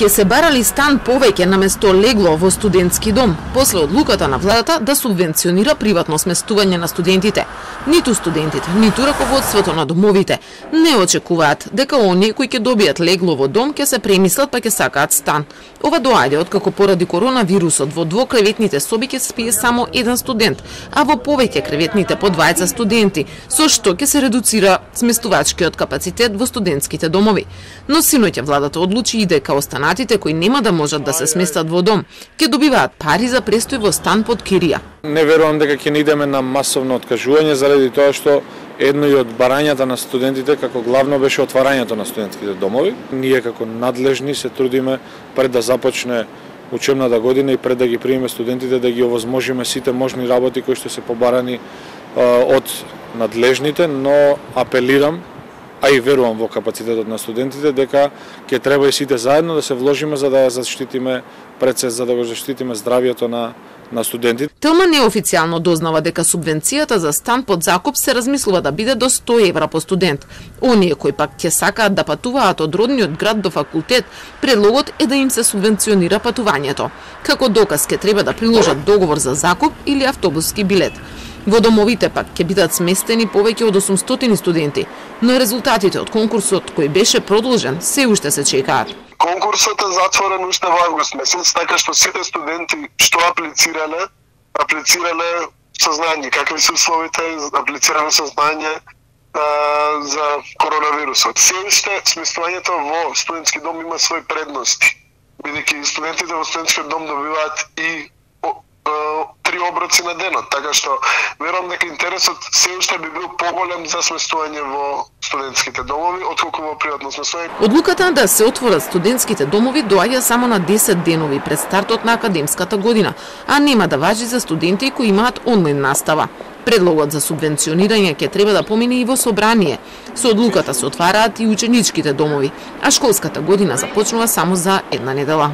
Ќе се барали стан повеќе наместо легло во студентски дом, после одлуката на владата да субвенционира приватно сместување на студентите. Ниту студентите, ниту раководството на домовите не очекуваат дека оние кои ќе добијат легло во дом ќе се премислат па ќе сакаат стан. Ова доаѓа откако поради коронавирусот во двокреветните соби ќе спие само еден студент, а во повеќе креветните по 20 студенти, со што ќе се редуцира сместувачкиот капацитет во студентските домови. Но синоќа владата одлучи и дека останатите кои нема да можат да се сместат во дом, ќе добиваат пари за престој во стан под кирија. Не верувам дека ќе идеме на масовно откажување заради тоа што едно и од барањата на студентите како главно беше отварањето на студентските домови. Ние како надлежни се трудиме пред да започне учебната година и пред да ги примеме студентите да ги овозможиме сите можни работи кои што се побарани од надлежните, но апелирам, а и верувам во капацитетот на студентите, дека ќе треба и сите заедно да се вложиме за да ја заштитиме за да го заштитиме здравието на студентите. Телма неофицијално дознава дека субвенцијата за стан под закуп се размислува да биде до 100 евра по студент. Оние кои пак ќе сакаат да патуваат од родниот град до факултет, предлогот е да им се субвенционира патувањето. Како доказ ќе треба да приложат договор за закуп или автобуски билет. Во домовите пак ќе бидат сместени повеќе од 800 студенти, но резултатите од конкурсот кој беше продолжен се уште се чекаат. Конкурсот е затворен уште во август месец, така што сите студенти што аплицирале со знање какви се условите, аплицирале со знање за коронавирусот. Се уште сместувањето во студентски дом има свои предности, бидејќи студентите во студентскиот дом добиваат и 3 оброци на денот, така што верувам дека интересот се уште би бил поголем за сместување во студентските домови отколку во приватно сместување. Одлуката да се отворат студентските домови доаѓа само на 10 денови пред стартот на академската година, а нема да важи за студенти кои имаат онлайн настава. Предлогот за субвенционирање ќе треба да помине и во собрание. Со одлуката се отвараат и ученичките домови, а школската година започнува само за една недела.